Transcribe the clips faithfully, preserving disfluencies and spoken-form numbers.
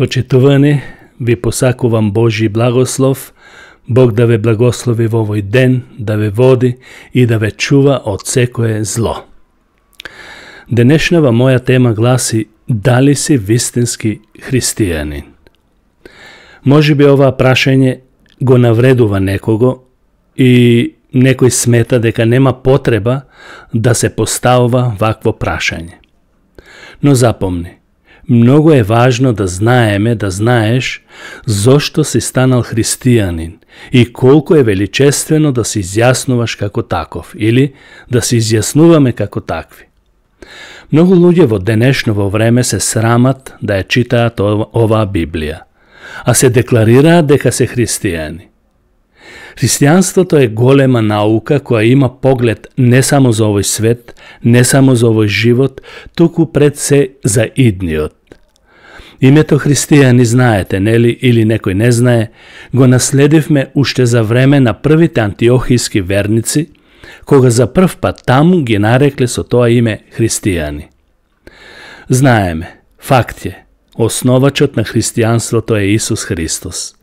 Почитувани, ви посакувам Божи благослов, Бог да ве благослови во овој ден, да ве води и да ве чува од секое зло. Денешнава моја тема гласи: дали си вистински христијанин? Може би ова прашање го навредува некого и некој смета дека нема потреба да се поставува вакво прашање. Но запомни, многу е важно да знаеме, да знаеш зошто си станал христијанин и колку е величествено да се изјаснуваш како таков или да се изјаснуваме како такви. Многу луѓе во денешново време се срамат да ја читаат оваа Библија, а се декларираат дека се христијани. Христијанството е голема наука која има поглед не само за овој свет, не само за овој живот, туку пред се за идниот. Името христијани знаете, нели, или некој не знае, го наследивме уште за време на првите антиохијски верници, кога за прв пат таму ги нарекле со тоа име христијани. Знаеме, факт е, основачот на христијанството е Исус Христос.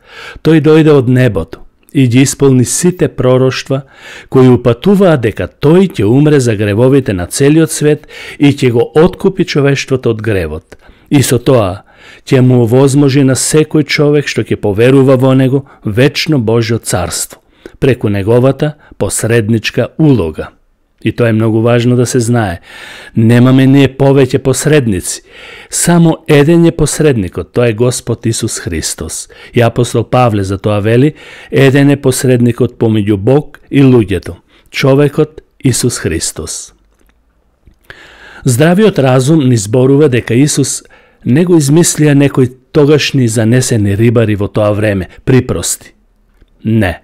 Тој дојде од небото и ги исполни сите пророштва кои упатуваа дека тој ќе умре за гревовите на целиот свет и ќе го откупи човештвото од гревот. И со тоа ќе му овозможи на секој човек што ќе поверува во него вечно Божјо царство, преку неговата посредничка улога. И тоа е многу важно да се знае. Немаме ние повеќе посредници. Само еден е посредникот, тоа е Господ Исус Христос. И апостол Павле за тоа вели: еден е посредникот помеѓу Бог и луѓето, човекот Исус Христос. Здравиот разум ни зборува дека Исус не го измислија некои тогашни занесени рибари во тоа време, припрости. Не.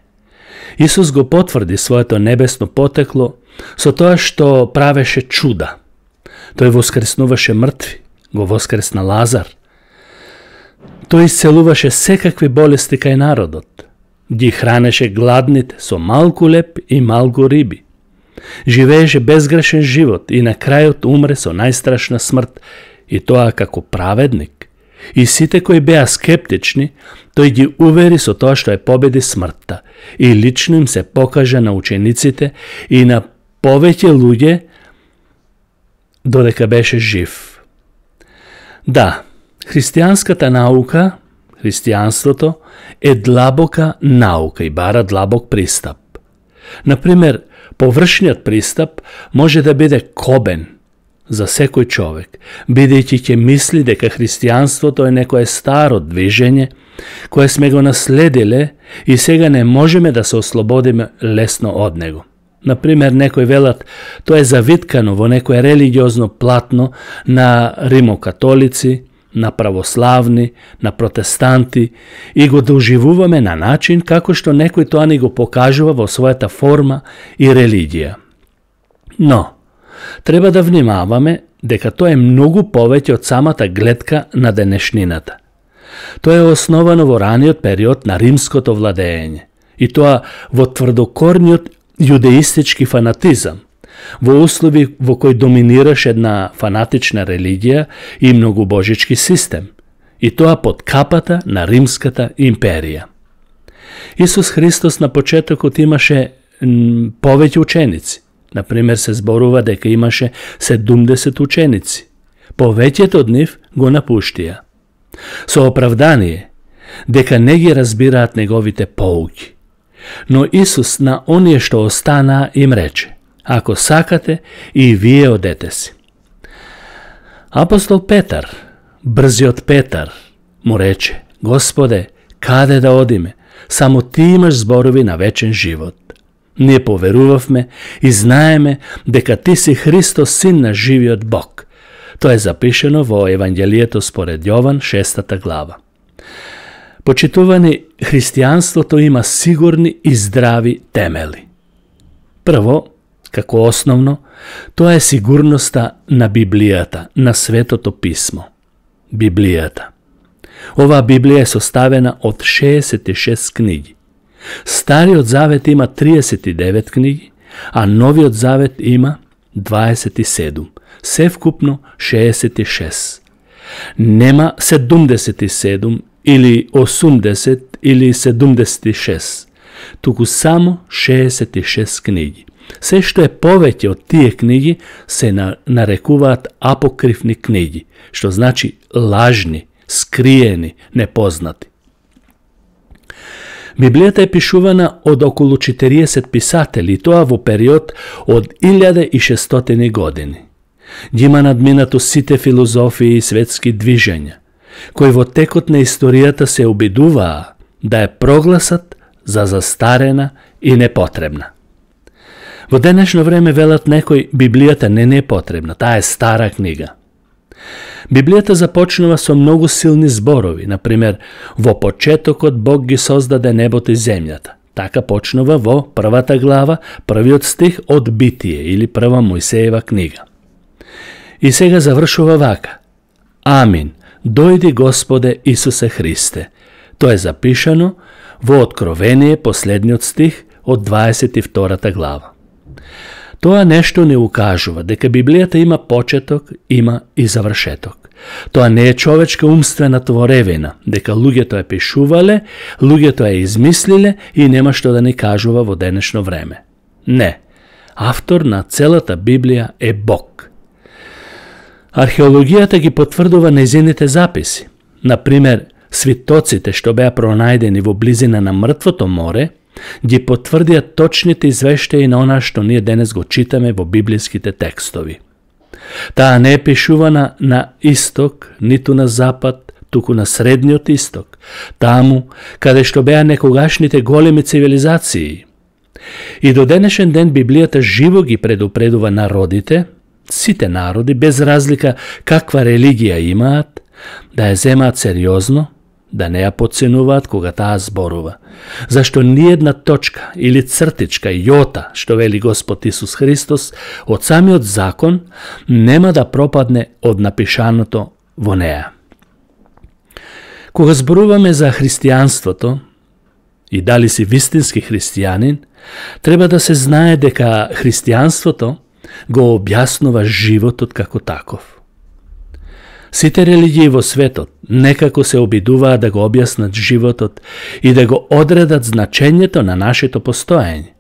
Исус го потврди своето небесно потекло со тоа што правеше чуда. Тој воскреснуваше мртви, го воскресна Лазар. Тој исцелуваше секакви болести кај народот. Ги хранеше гладните со малку леп и малку риби. Живееше безгрешен живот и на крајот умре со најстрашна смрт, и тоа како праведник. И сите кои беа скептични, тој ги увери со тоа што е победи смртта и лично им се покажа на учениците и на повеќе луѓе додека беше жив. Да, христијанската наука, христијанството е длабока наука и бара длабок пристап. Например, површниот пристап може да биде кобен за секој човек, бидејќи ќе мисли дека христијанството е некое старо движење кое сме го наследиле и сега не можеме да се ослободиме лесно од него. Например, некои велат тоа е завиткано во некое религиозно платно на римокатолици, на православни, на протестанти и го доживуваме на начин како што некој тоа ни го покажува во својата форма и религија. Но, треба да внимаваме дека тоа е многу повеќе од самата гледка на денешнината. Тоа е основано во раниот период на римското владење и тоа во тврдокорниот јудеистички фанатизам, во услови во кои доминираше една фанатична религија и многобожички систем, и тоа под капата на Римската империја. Исус Христос на почетокот имаше повеќе ученици. Например, се зборува дека имаше седумдесет ученици. Повеќето од нив го напуштија. Со оправдание дека не ги разбираат неговите поуки. Но Исус на оние што останаа им рече: ако сакате, и вие одете си. Апостол Петар, брзиот Петар, му рече: Господе, каде да одиме? Само ти имаш зборови на вечен живот. Ние поверувавме и знаеме дека ти си Христос, син на живиот Бог. Тоа е запишено во Евангелието според Јован, шестата глава. Почитувани, христијанството има сигурни и здрави темели. Прво, како основно, тоа е сигурноста на Библијата, на Светото писмо. Библијата. Оваа Библија е составена од шеесет и шест книги. Стариот завет има триесет и девет книги, а Новиот завет има дваесет и седум, се вкупно шеесет и шест. нема седумдесет и седум или осумдесет или седумдесет и шест, туку само шеесет и шест книги. Се што е повеќе од тие книги се нарекуваат апокривни книги, што значи лажни, скриени, непознати. Библијата е пишувана од околу четириесет писатели, тоа во период од илјада и шестстотини години. Ги има надминато сите филозофии и светски движења, кои во текот на историјата се обидуваа да ја прогласат за застарена и непотребна. Во денешно време велат некој Библијата не не е потребна, таа е стара книга. Библијата започнува со многу силни зборови, например, во почетокот Бог ги создаде небото и земјата. Така почнува во првата глава, првиот стих од Битие или прва Мојсеева книга. И сега завршува вака: Амин, дојди Господе Исусе Христе. Тоа е запишано во Откровение, последниот стих од дваесет и втората глава. Тоа нешто не укажува дека Библијата има почеток, има и завршеток. Тоа не е човечка умствена творевина, дека луѓето ја пишувале, луѓето ја измислиле и нема што да ни кажува во денешно време. Не, автор на целата Библија е Бог. Археологијата ги потврдува нејзините записи. Например, свитоците што беа пронајдени во близина на Мртвото море, ги потврдија точните извештаи на она што ние денес го читаме во библиските текстови. Таа не е пишувана на исток, ниту на запад, туку на средниот исток, таму каде што беа некогашните големи цивилизации. И до денешен ден Библијата живо ги предупредува народите, сите народи, без разлика каква религија имаат, да ја земаат сериозно, да не ја подценуваат кога таа зборува. Зашто ниедна точка или цртичка, јота, што вели Господ Исус Христос, од самиот закон, нема да пропадне од напишаното во неа. Кога зборуваме за христијанството и дали си вистински христијанин, треба да се знае дека христијанството го објаснува животот како таков. Сите религии во светот некако се обидуваат да го објаснат животот и да го одредат значењето на нашето постоење.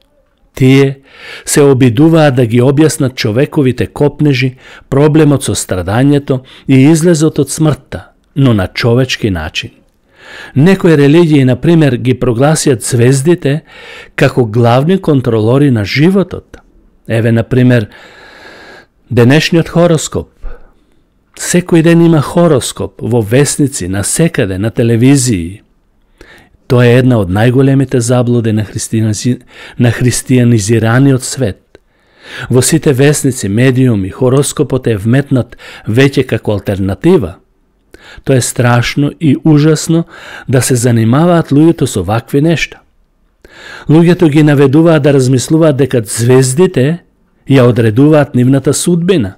Тие се обидуваат да ги објаснат човековите копнежи, проблемот со страдањето и излезот од смртта, но на човечки начин. Некои религии, например, ги прогласиат звездите како главни контролори на животот. Еве, например, денешниот хороскоп. Секој ден има хороскоп во весници, на секаде, на телевизии. Тоа е една од најголемите заблуди на, христијанизи... на христијанизираниот свет. Во сите весници, медиуми, хороскопот е вметнат веќе како алтернатива. Тоа е страшно и ужасно да се занимаваат луѓето со вакви нешта. Луѓето ги наведуваат да размислуваат дека звездите ја одредуваат нивната судбина.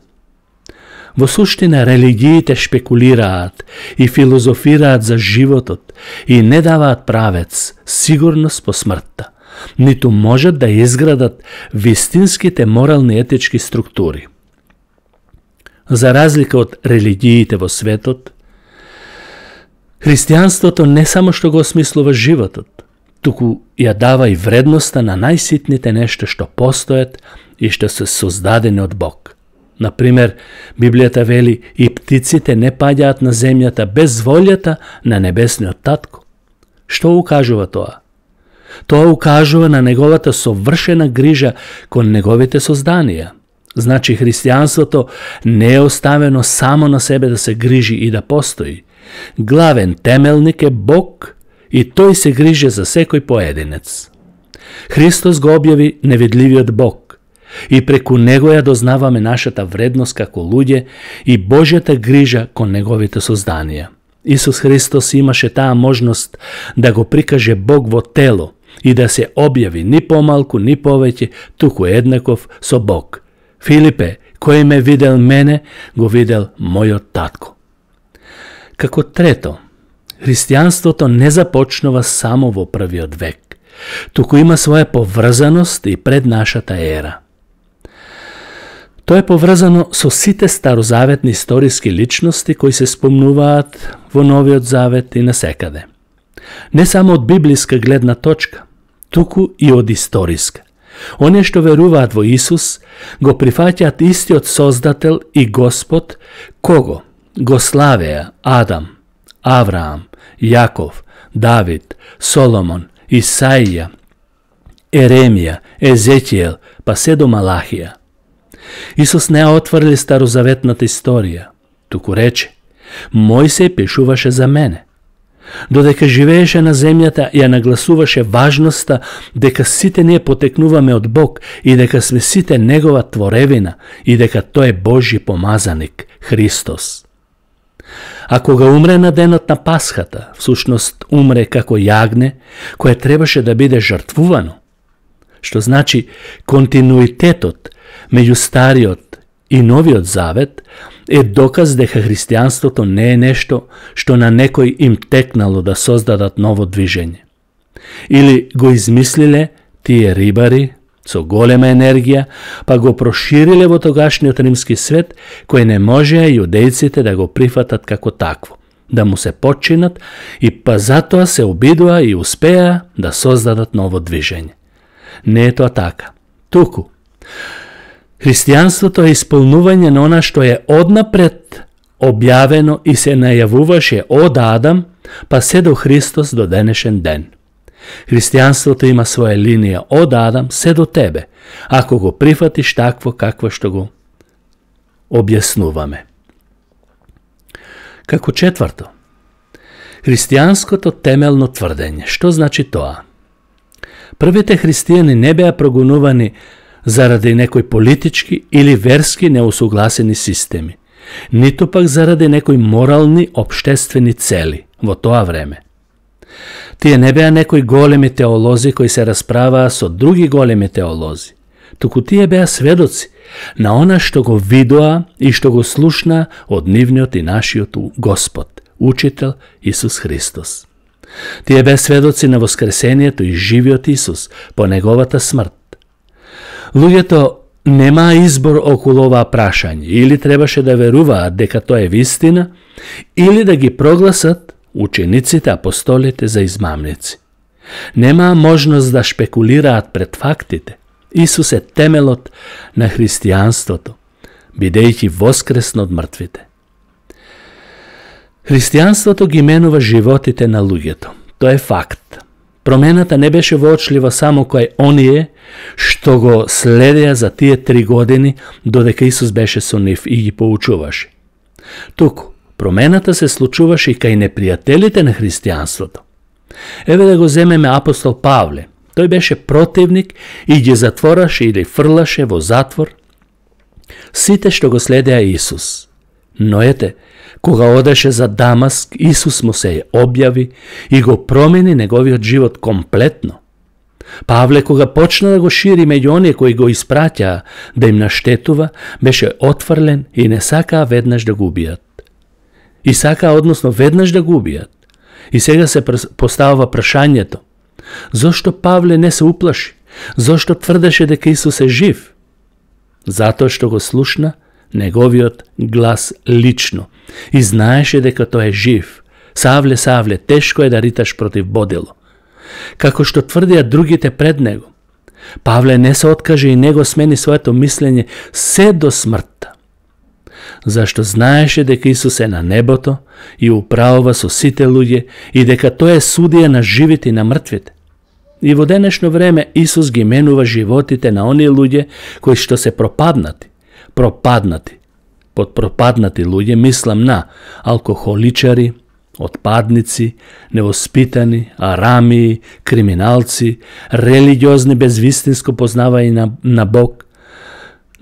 Во суштина, религиите шпекулираат и филозофираат за животот и не даваат правец, сигурност по смртта, ниту можат да изградат вистинските морални етички структури. За разлика од религиите во светот, христијанството не само што го осмислува животот, туку ја дава и вредноста на најситните нешта што постојат и што се создадени од Бог. Например, Библијата вели: и птиците не паѓаат на земјата без волјата на небесниот татко. Што укажува тоа? Тоа укажува на неговата совршена грижа кон неговите созданија. Значи, христијанството не е оставено само на себе да се грижи и да постои. Главен темелник е Бог и тој се грижи за секој поединец. Христос го објави невидливиот Бог и преку него ја дознаваме нашата вредност како луѓе и Божјата грижа кон неговите созданија. Исус Христос имаше таа можност да го прикаже Бог во тело и да се објави ни помалку, ни повеќе, туку еднаков со Бог. Филипе, кој ме видел мене, го видел мојот татко. Како трето, христијанството не започнува само во првиот век, туку има своја поврзаност и пред нашата ера. Тоа е поврзано со сите старозаветни историски личности кои се спомнуваат во Новиот Завет и насекаде. Не само од библиска гледна точка, туку и од историска. Оние што веруваат во Исус го прифаќаат истиот Создател и Господ, кого го славеа Адам, Авраам, Јаков, Давид, Соломон, Исаија, Еремија, Езекиел, па се до Малахија. Исус не отврли старозаветната историја, туку рече: Мојсей пишуваше за мене. Додека живееше на земјата, ја нагласуваше важноста дека сите ние потекнуваме од Бог и дека сме сите Негова творевина и дека тој е Божји помазаник, Христос. А кога умре на денот на Пасхата, всушност умре како јагне, кое требаше да биде жртвувано, што значи континуитетот меѓу Стариот и Новиот Завет е доказ дека христијанството не е нешто што на некој им текнало да создадат ново движење. Или го измислиле тие рибари со голема енергија, па го прошириле во тогашниот римски свет, кој не можеа јудејците да го прифатат како такво, да му се подчинат и па затоа се обидоа и успеа да создадат ново движење. Не е тоа така. Туку, христијанството е исполнување на она што е однапред објавено и се најавуваше од Адам, па се до Христос до денешен ден. Христијанството има своја линија од Адам се до тебе, ако го прифатиш такво какво што го објаснуваме. Како четврто, христијанското темелно тврдење. Што значи тоа? Првите христијани не беа прогонувани заради некои политички или верски неусогласени системи, ниту пак заради некои морални општествени цели во тоа време. Тие не беа некои големи теолози кои се расправаа со други големи теолози, туку тие беа сведоци на она што го видоа и што го слушна од нивниот и нашиот Господ, Учител Исус Христос. Тие беа сведоци на воскресението и живиот Исус по неговата смрт. Луѓето немаа избор околу оваа прашање, или требаше да веруваат дека тоа е вистина, или да ги прогласат учениците, апостолите за измамници. Немаа можност да шпекулираат пред фактите. Исус е темелот на христијанството, бидејќи воскресно од мртвите. Христијанството ги менува животите на луѓето. Тоа е факт. Промената не беше воочлива само кај оние што го следеа за тие три години додека Исус беше со нив и ги поучуваше. Туку, промената се случуваше и кај непријателите на христијанството. Еве да го земеме апостол Павле. Тој беше противник и ги затвораше или фрлаше во затвор сите што го следеа Исус. Но ете, кога одеше за Дамаск, Исус му се објави и го промени неговиот живот комплетно. Павле, кога почна да го шири меѓу оние кои го испраќаа да им наштетува, беше отфрлен и не сакаа веднаш да го убијат. И сакаа, односно, веднаш да го убијат. И сега се поставува прашањето: зошто Павле не се уплаши? Зошто тврдеше дека Исус е жив? Затоа што го слушна неговиот глас лично и знаеше дека тој е жив. Савле, Савле, тешко е да риташ против бодило. Како што тврдеа другите пред него. Павле не се откаже и него смени своето мислење се до смртта. Зашто знаеше дека Исус е на небото и управува со сите луѓе и дека тој е судија на живите и на мртвите. И во денешно време Исус ги менува животите на оние луѓе кои што се пропаднати. Пропаднати. Под пропаднати луѓе мислам на алкохоличари, отпадници, невоспитани, арамии, криминалци, религиозни без вистинско познавање на, на Бог.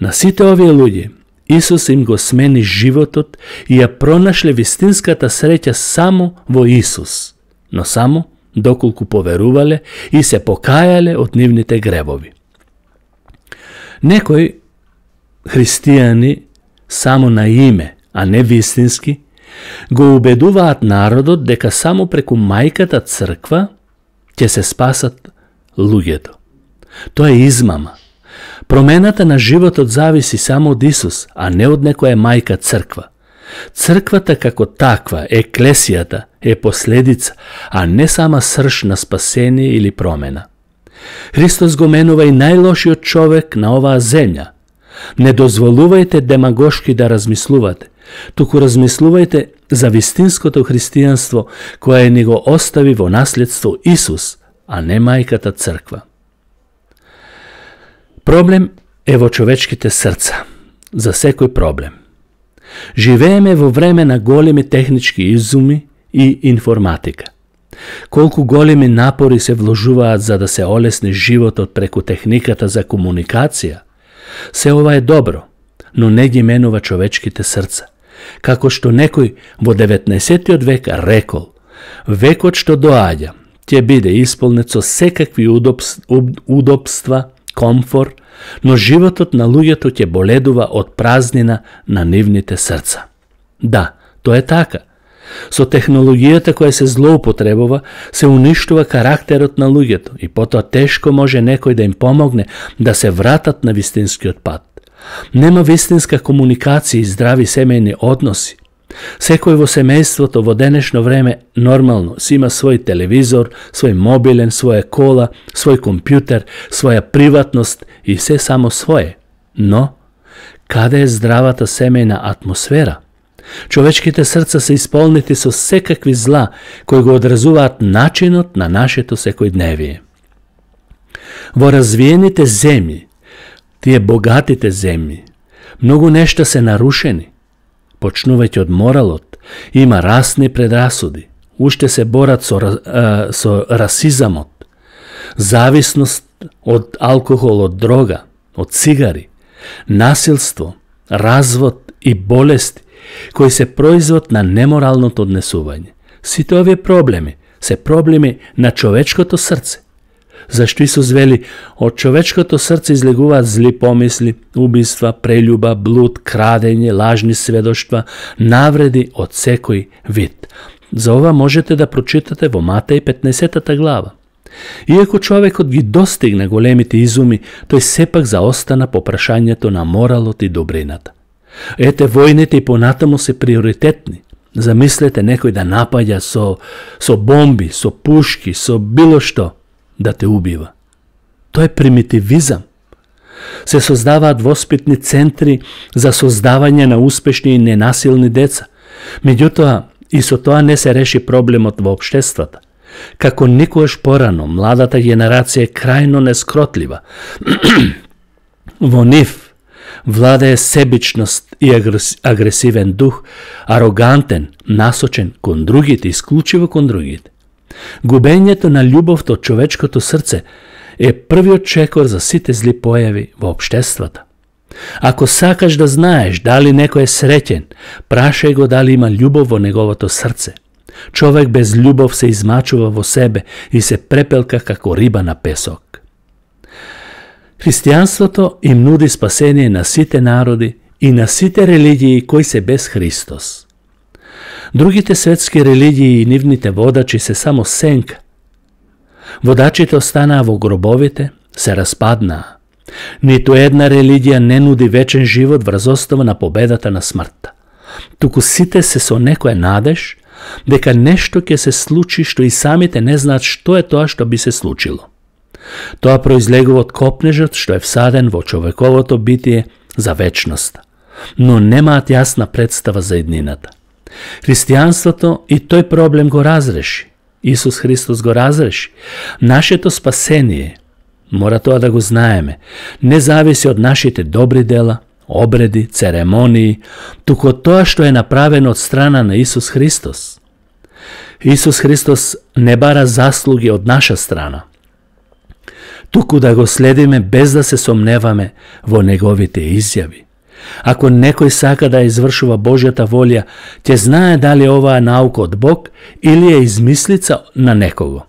На сите овие луѓе Исус им го смени животот и ја пронашле вистинската среќа само во Исус, но само доколку поверувале и се покајале од нивните гревови. Некои христијани само на име, а не вистински, го убедуваат народот дека само преку мајката црква ќе се спасат луѓето. Тоа е измама. Промената на животот зависи само од Исус, а не од некоја мајка црква. Црквата како таква, еклесијата, е последица, а не сама срж на спасение или промена. Христос го менува и најлошиот човек на оваа земја. Не дозволувајте демагошки да размислувате, туку размислувајте за вистинското христијанство кое ни го остави во наследство Исус, а не мајката црква. Проблем е во човечките срца, за секој проблем. Живееме во време на големи технички изуми и информатика. Колку големи напори се вложуваат за да се олесни животот преку техниката за комуникација, се ова е добро, но не ги менува човечките срца. Како што некој во деветнаесеттиот век рекол, векот што доаѓа ќе биде исполнет со секакви удобства, комфор, но животот на луѓето ќе боледува од празнина на нивните срца. Да, тоа е така. Со технологијата која се злоупотребува, се уништува карактерот на луѓето и потоа тешко може некој да им помогне да се вратат на вистинскиот пат. Нема вистинска комуникација и здрави семејни односи. Секој во семејството во денешно време нормално си има свој телевизор, свој мобилен, своја кола, свој компјутер, своја приватност и се само свое. Но, каде е здравата семејна атмосфера? Човечките срца се исполнети со секакви зла кои го одразуваат начинот на нашето секојдневие. Во развиените земји, тие богатите земји, многу нешта се нарушени. Почнувајќи од моралот, има расни предрасуди, уште се борат со, а, со расизамот, зависност од алкохол, од дрога, од цигари, насилство, развод и болести, кои се производ на неморалното однесување. Сите овие проблеми се проблеми на човечкото срце. Зашто Исус вели, од човечкото срце излегуваат зли помисли, убиства, прелюба, блуд, крадење, лажни сведоштва, навреди од секој вид. За ова можете да прочитате во Матеј петнаесеттата глава. Иако човекот ги достигна големите изуми, тој сепак заостана по прашањето на моралот и добрината. Ете, војните и понатаму се приоритетни. Замислете некој да напаѓа со, со бомби, со пушки, со било што, да те убива. Тоа е примитивизам. Се создаваат воспитни центри за создавање на успешни и ненасилни деца. Меѓутоа, и со тоа не се реши проблемот во општествата. Како никогаш порано, младата генерација е крајно нескротлива. Во нив владее себичност и агресивен дух, арогантен, насочен кон другите, исклучиво кон другите. Губењето на љубовта од човечкото срце е првиот чекор за сите зли појави во општествата. Ако сакаш да знаеш дали некој е среќен, прашај го дали има љубов во неговото срце. Човек без љубов се измачува во себе и се препелка како риба на песок. Христијанството им нуди спасение на сите народи и на сите религии кои се без Христос. Другите светски религии и нивните водачи се само сенка. Водачите останаа во гробовите, се распаднаа. Ниту една религија не нуди вечен живот врз основа на победата на смртта. Туку сите се со некоја надеж дека нешто ќе се случи што и самите не знаат што е тоа што би се случило. Тоа произлегува од копнежот што е всаден во човековото битие за вечноста, но немаат јасна представа за иднината. Христијанството и тој проблем го разреши. Исус Христос го разреши. Нашето спасение, мора тоа да го знаеме, не зависи од нашите добри дела, обреди, церемонии, туку од тоа што е направено од страна на Исус Христос. Исус Христос не бара заслуги од наша страна, туку да го следиме без да се сомневаме во неговите изјави. Ако некој сака да извршува Божјата волја, ќе знае дали оваа наука од Бог или е измислица на некого.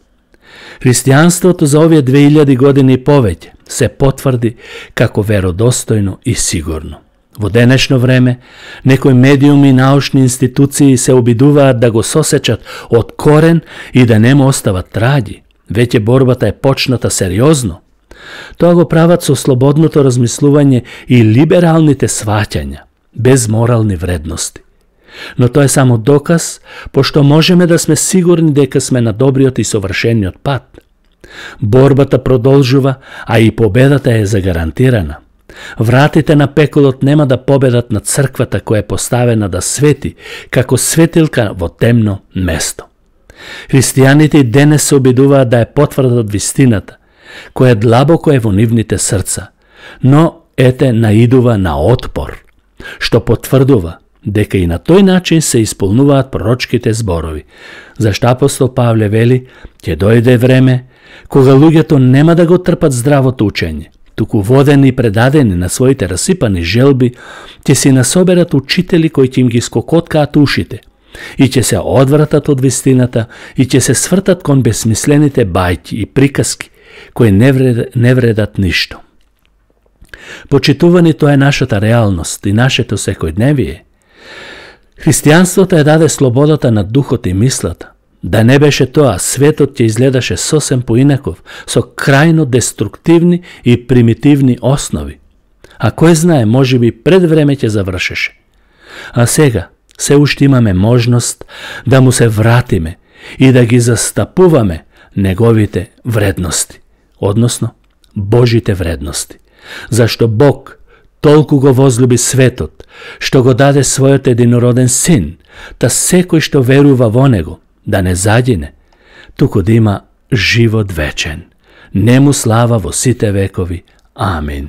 Христијанството за овие две илјади години и повеќе се потврди како веродостојно и сигурно. Во денешно време, некои медиуми и научни институции се обидуваат да го сосечат од корен и да не му остават траги. Веќе борбата е почната сериозно. Тоа го прават со слободното размислување и либералните сваќања, без морални вредности. Но тоа е само доказ, пошто можеме да сме сигурни дека сме на добриот и совршениот пат. Борбата продолжува, а и победата е загарантирана. Вратите на пеколот нема да победат на црквата која е поставена да свети, како светилка во темно место. Христијаните и денес се обидуваат да ја потврдат вистината, која длабоко е во нивните срца, но ете наидува на отпор, што потврдува дека и на тој начин се исполнуваат пророчките зборови. Зашто апостол Павле вели, ќе дојде време кога луѓето нема да го трпат здравото учење, туку водени и предадени на своите расипани желби, ќе си насоберат учители кои ќе им ги скокоткаат ушите и ќе се одвратат од вистината и ќе се свртат кон безсмислените бајки и приказки кои не, вред, не вредат ништо. Почитувани, тоа е нашата реалност и нашето секојдневие. Христијанството ја даде слободата на духот и мислата. Да не беше тоа, светот ќе изгледаше сосем поинаков, со крајно деструктивни и примитивни основи. А кој знае, може би пред време ќе завршеше. А сега, се уште имаме можност да му се вратиме и да ги застапуваме неговите вредности, односно Божите вредности. Зашто Бог толку го возлюби светот, што го даде својот единороден син, та секој што верува во него, да не загине, туку да има живот вечен. Нему слава во сите векови. Амин.